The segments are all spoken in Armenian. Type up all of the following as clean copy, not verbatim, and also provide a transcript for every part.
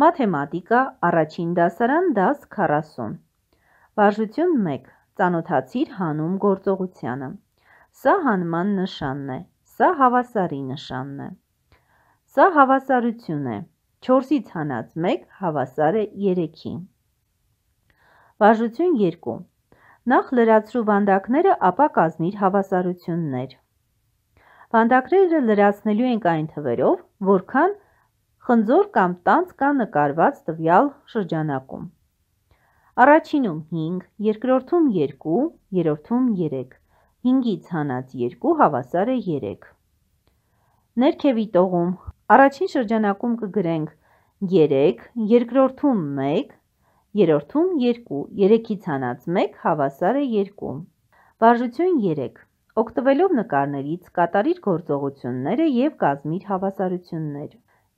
Մաթեմատիկա, առաջին դասարան, դաս 40։ Վարժություն 1. Ծանոթացիր հանում գործողությանը։ Սա հանման նշանն է, սա հավասարի նշանն է։ Սա հավասարություն է, 4-ից հանած 1 հավասար է 3-ի։ Վարժություն 2. Նախ լրացրու վանդակները, ապա կազմիր հավասարություններ։ Վանդակները լրացնելու ենք այն թվերով, որքան խնձոր կամ տանձ կա նկարված տվյալ շրջանակում։ Առաջինում 5, երկրորդում 2, երրորդում 3, 5-ից հանած 2 հավասար է 3։ Ներքևի տողում առաջին շրջանակում կգրենք 3, երկրորդում 1, երրորդում 2, 3-ից հանած 1 հավասար է 2։ Վարժություն 3. Օգտվելով նկարներից կատարիր գործողությունները և կազմիր հավասարություններ։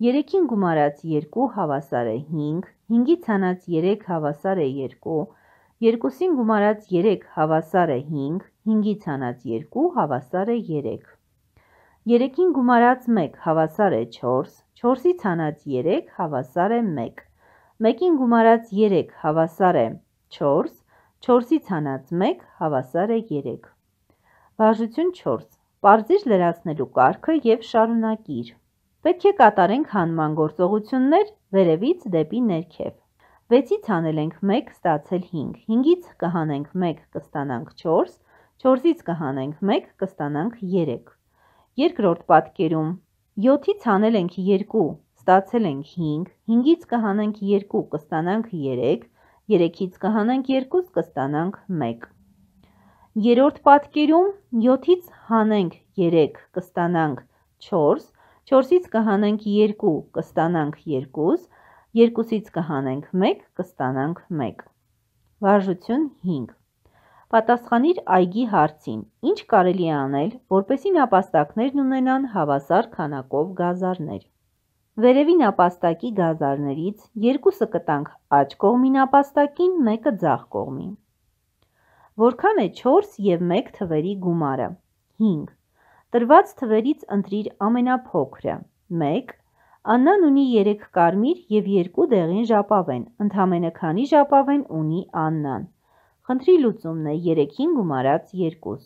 3-ին գումարած 2 հավասար է 5, 5-ից հանած 3 հավասար է 2, 2-ին գումարած 3 հավասար է 5, 5-ից հանած 2 հավասար է 3, 3-ին գումարած 1 հավասար է 4, 4-ից հանած 3 հավասար է 1, 1-ին գումարած 3 հավասար է 4, 4-ից հանած 1 հավասար է 3։ Վարժություն 4. Պարզիր լրացնելու կարգը և շարունակիր։ Պետք է կատարենք հանման գործողություններ վերևից դեպի ներքև։ 6-ից հանել ենք 1, ստացել 5, 5-ից կհանենք 1, կստանանք 4, 4-ից կհանենք 1, կստանանք 3։ Երկրորդ պատկերում 7-ից հանել ենք 2, ստացել ենք 5, 5-ից կհանենք 2, կստանանք 3, 3-ից կհանենք 2, կստանանք 1։ Երրորդ պատկերում 7-ից հանենք 3, կստանանք 4, 4-ից կհանենք 2, կստանանք 2, 2-ից կհանենք 1, կստանանք 1։ Վարժություն 5. Պատասխանիր այգի հարցին. ինչ կարելի է անել, որպեսզի նապաստակներն ունենան հավասար քանակով գազարներ։ Վերևի նապաստակի գազարներից 2-ը կտանք աջ կողմի նապաստակին, 1-ը ձախ կողմի։ Որքան է 4 և 1 թվերի գումարը։ 5. Տրված թվերից ընտրիր ամենափոքրը։ 1. Աննան ունի 3 կարմիր և 2 դեղին ժապավեն, ընդամենը քանի ժապավեն ունի Աննան։ Խնդրի լուծումն է 3-ին գումարած 2։